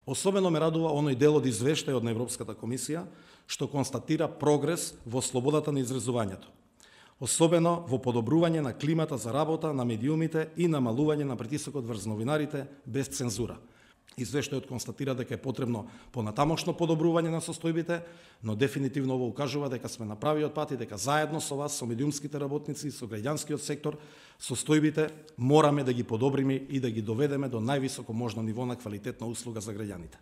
Особено ме радува оној дел од извештајот на Европската комисија што констатира прогрес во слободата на изразувањето, особено во подобрување на климата за работа на медиумите и намалување на притисокот врз новинарите без цензура. Извештајот констатира дека е потребно понатамошно подобрување на состојбите, но дефинитивно ово укажува дека сме на правиот пат и дека заедно со вас, со медиумските работници и со граѓанскиот сектор, состојбите мораме да ги подобриме и да ги доведеме до највисоко можно ниво на квалитетна услуга за граѓаните.